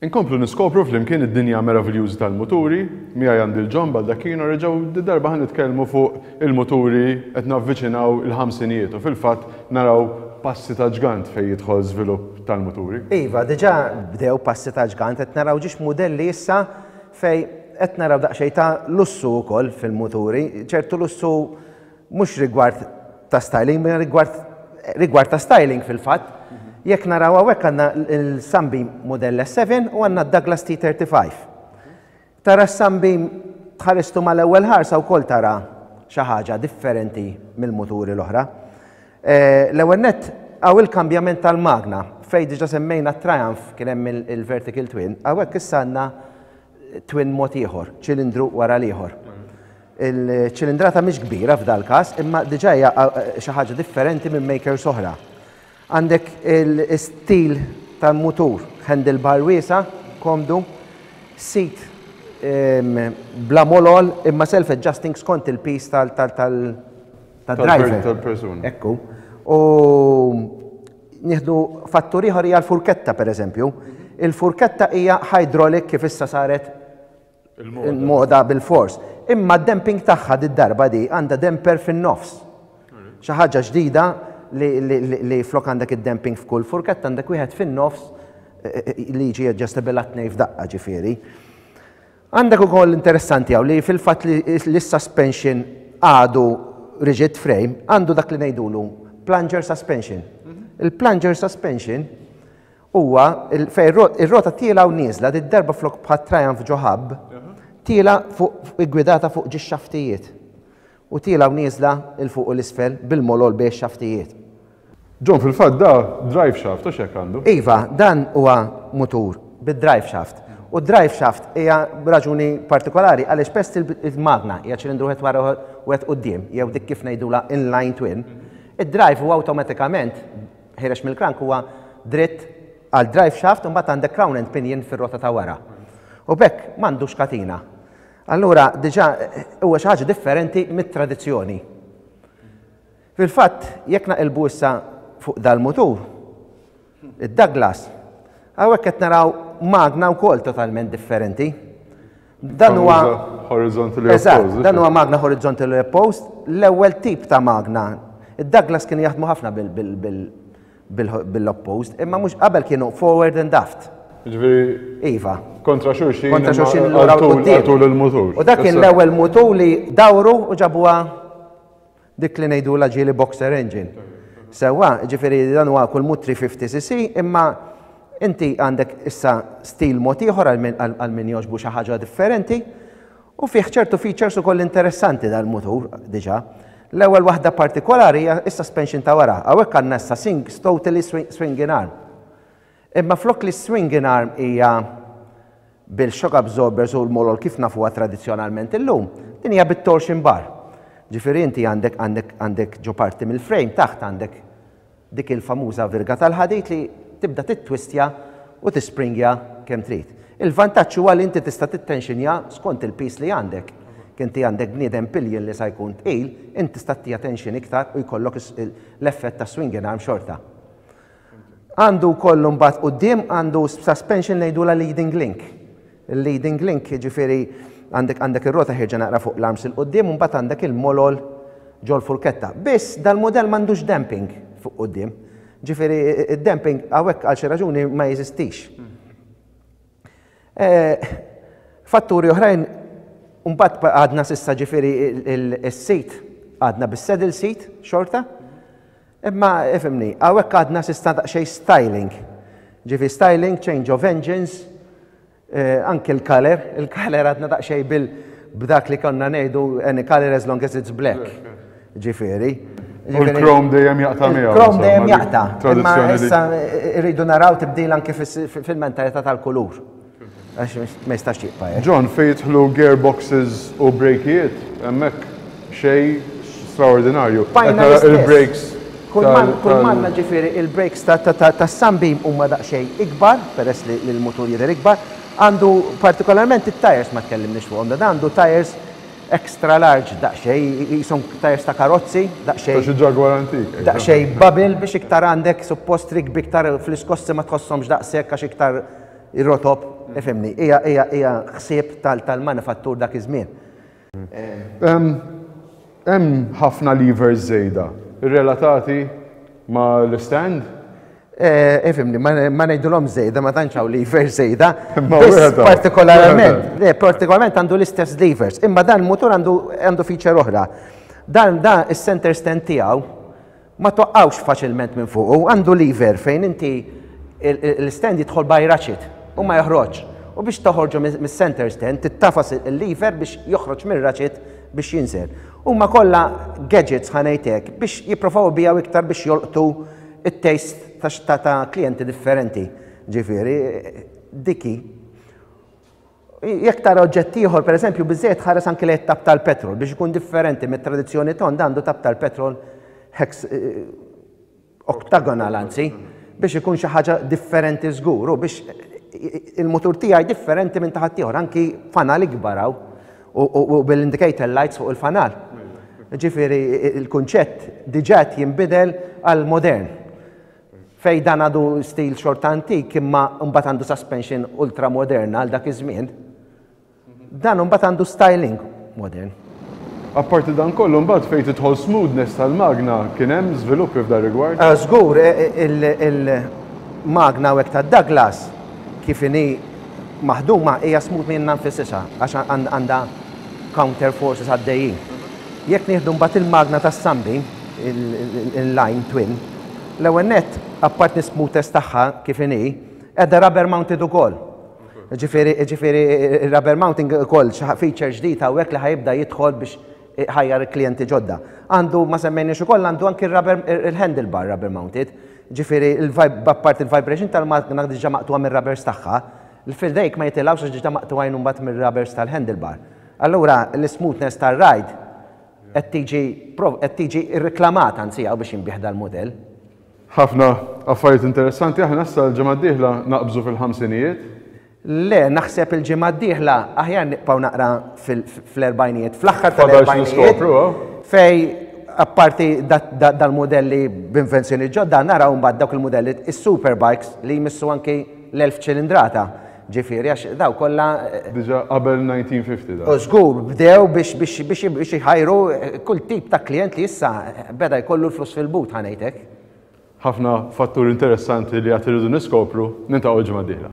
Inkomplu niskopru flimkien id-dinja meraviljuża tal-muturi, miegħi għandi l-John Baldacchino reġgħu darba ħa nitkellmu fuq il-muturi qed navviċinaw il-ħamsinijiet u fil-fatt naraw passi ta' ġgant fejn jidħol żvilupp tal-muturi. Iva, diġà bdew passi ta' ġgant, qed naraw ġiex mudelli issa fejn qed naraw daqsxejn ta' lussu wkoll fil-muturi, ċertu lussu Mhux rigward ta' styling, imma rigward rigward ta' styling fil-fatt. Jekk naraw hawnhekk għandna l-Sunbeam Model S7 u għandna d-Douglas T35. Tara s-Sunbeam tħaristu mal-ewwel ħarsa wkoll tara xi ħaġa differenti mill-muturi l-oħra. Eh, l-ewwel nett hawn il-kambjament tal-magna fejn diġà semmejna Triumph kien hemm il-vertical twin, hawnhekk issa għandna twin mod ieħor, ċilindru wara l-ieħor. Il-ċilindrata mhix kbira f'dal-każ, imma diġà hija xi ħaġa differenti minn makers oħra. Għandek il-stil tal-mutur, handlebar wiesa', komdu, seat bla molol imma self-adjusting skont il-piż tal-driver. Tal-persuna. Ekku. U nieħdu fattur ieħor hija l-furketta pereżempju. Il-furketta hija hydraulic kif issa saret Il-moda bil-fors. Imma d-damping tagħha did-darba di għandha damper fin-nofs. Xi ħaġa ġdida li flok għandek id-damping f'kull furketta għandek wieħed fin-nofs eh, eh, li jiġi adjustable għat-tnej f'daqqa ġifieri. Għandek ukoll interessanti hawn li fil-fatt li s-suspension għadu rigid frame għandu dak li ngħidulu plunger suspension. Mhm. Il-plunger suspension Huwa fejn ir-rota tiela' u nieżla, did-darba flok bħat-Triumph ġo hub, tiela' fuq iggwidata fuq ġiex xaftijiet. U tiela' u nieżla 'l fuq u 'l isfel bil-molol bejn ix-xaftijiet. John, fil-fatt da drive shaft, hux hekk għandu? Iva, dan huwa mutur bid-drive shaft. U d-drive shaft hija b'raġuni partikolari għaliex peress li l-magna hija ċilindru wieħed wara u wieħed quddiem, jew dik kif ngħidulha inline twin, id-drive huwa awtomatikament Ħiereġ mill-crank huwa dritt għal drive shaft u mbagħad għandek crown and pinion fir-rota ta' wara. U b'hekk m'għandux katina. Allura diġà huwa xi ħaġa differenti mit-tradizzjoni. Fil-fatt, jekk naqilbu issa fuq dal-mutur, id-Douglas, hawnhekk qed naraw magna wkoll totalment differenti. Dan huwa horizontally opposed. Dan huwa magna horizontally opposed, l-ewwel tip ta' magna. Id-Douglas kienu jaħdmu ħafna bil-opposed, imma mhux qabel kienu forward and aft. Ġifieri. Iva. Kontra xulxin. Kontra xulxin lura u il-mutur. U dak kien l-ewwel mutur li dawru u ġabuha Dik li ngħidulha ġieli boxer engine. Sewwa, jiġifieri dan huwa kull mut 350cc imma inti għandek issa stil mod ieħor għal min jogħġbu xi ħaġa differenti u fih ċertu features ukoll interessanti dal-mutur diġà. L-ewwel waħda partikolari hija s-suspension ta' wara. Hawnhekk għandna issa sing totally swinging arm. Imma flok li s-swinging arm hija bil-shock absorbers u l-molol kif nafuha tradizzjonalment illum, din hija bit-torsion bar. Ġifieri inti għandek għandek għandek ġo parti mill-frame taħt għandek dik il-famuża virga tal-ħadid li tibda tittwistja u tispringja kemm trid. Il-vantaġġ huwa li inti tista' tittenxinja skont il-piż li għandek. Jekk inti għandek bniedem pillion li sa jkun tqil, inti tista' ttiha tension iktar u jkollok l-effett ta' swinging arm xorta. Għandu wkoll imbagħad quddiem għandu suspension ngħidulha leading link. Il-leading link jiġifieri għandek għandek ir-rota ħierġa naqra fuq l-arms 'il quddiem u mbagħad għandek il-molol ġol-furketta. Biss dal-mudell m'għandux damping fuq quddiem. Ġifieri id-damping hawnhekk għal xi raġuni ma jeżistix. Eh, fatturi oħrajn mbagħad għadna s'issa ġifieri is-seat għadna bis-saddle seat xorta. Imma ifhimni, hawnhekk għadna s'issa daqsxejn styling. Ġifi styling, change of engines, eh, anke l-color, il-color għadna daqsxejn bil b'dak li konna ngħidu any color as long as it's black. Ġifieri. U l-chrome dejjem jaqta' miegħu. Chrome dejjem jaqta'. Imma issa rridu naraw tibdil anke fil-mentalità tal-kulur. Għax ma jistax jibqa' hekk. John, fejn jidħlu gearboxes u brejkijiet, hemmhekk xejn straordinarju. Qed nara il-brakes. Kull m'għandna ġifieri il-brakes tas-Sunbeam huma daqsxejn ikbar, peress li l-mutur jidher ikbar. Għandu partikolarment it-tires ma tkellimniex fuqhom, dan għandu tires extra large daqsxejn, qishom tires ta' karozzi, daqsxejn. Ta' xi Jaguar antik. Daqsxejn bubble biex iktar għandek suppost rikbi iktar fl-iskossi ma tħosshomx daqshekk għax iktar. Ir-rotob, ifhimni, hija hija hija ħsieb tal-manifattur dak iż-żmien. Hemm ħafna levers żejda relatati mal-istand? Ifhimni, ma ngħidulhom żejda, ma tantx hawn levers żejda. Partikolarment, partikolarment għandu l-istess levers, imma dan il-mutur għandu feature oħra. Dan da is-center stand tiegħu Ma toqgħux faċilment minn fuqu, għandu lever fejn inti l-stand jidħol by ratchet u ma joħroġx. U biex toħorġu mis-center stand tittafas il-lever biex joħroġ mir-ratchet biex jinżel. Huma kollha gadgets ħa ngħid hekk biex jipprovaw ibiegħu iktar biex jolqtu it-taste ta' klijenti differenti. Ġifieri, dik hi. Jekk tara oġġett ieħor, pereżempju, biżżejjed tħares anki lejn it-tapp tal-petrol biex ikun differenti mit-tradizzjoni tond għandu tapp tal-petrol hex eh, octagonal anzi, biex ikun xi ħaġa differenti żgur u biex il-mutur tiegħi differenti minn ta' ħaddieħor, anki fanal ikbar hawn u bil-indicator lights fuq il-fanal. Ġifieri il-kunċett diġà qed jinbidel għal modern. Fejn dan għadu stil xorta antik imma mbagħad għandu suspension ultra moderna għal dak iż-żmien. Dan mbagħad għandu styling modern. Apparti dan kollu mbagħad fejn tidħol smoothness tal-magna kien hemm żviluppi f'dan rigward? Żgur, il-magna hawnhekk tad-Douglas kif inhi maħduma hija smooth minnha nfisisha għax għandha counter forces għaddejjin. Jekk nieħdu mbagħad il-magna tas-Sunbeam, il-line twin, l-ewwel nett, apparti l-smoothness tagħha kif inhi, qiegħda rubber mounted ukoll. Ġifieri, ġifieri rubber mounting ukoll xi feature ġdid hawnhekk li ħa jibda jidħol biex iħajjar il-klijenti ġodda. Għandu, ma semmejniex ukoll, għandu anki r-rubber, il-handlebar rubber mounted. Ġifieri, apparti il-vibration tal-magna diġà maqtugħa mir-rubbers tagħha, l-fidejk ma jitilgħux għax diġà maqtugħin imbagħad mir-rubbers tal-handlebar. Allura l-ismoothness tar-ride qed tiġi qed tiġi rriklamata anzi hawn biex jinbiegħ dal-mudell. Ħafna affarijiet interessanti, aħna issa l-ġimgħa d-dieħla naqbżu fil-ħamsinijiet. Le, naħseb il-ġimgħa d-dieħla aħjar nibqgħu naqra fl-erbgħinijiet, fl-aħħar tal-erbgħinijiet. Fej apparti dal-mudelli b'invenzjoni ġodda naraw mbagħad dawk il-mudelli is-superbikes li jmissu anki l-1000 ċilindrata. Ġifieri għax daw kollha. Diġà qabel 1950 dan. Żgur, bdew biex biex biex biex iħajru kull tip ta' klijent li issa beda jkollu l-flus fil-but ħa ngħid hekk. Ħafna fatturi interessanti li għad irridu niskopru, niltaqgħu l-ġimgħa d-dieħla.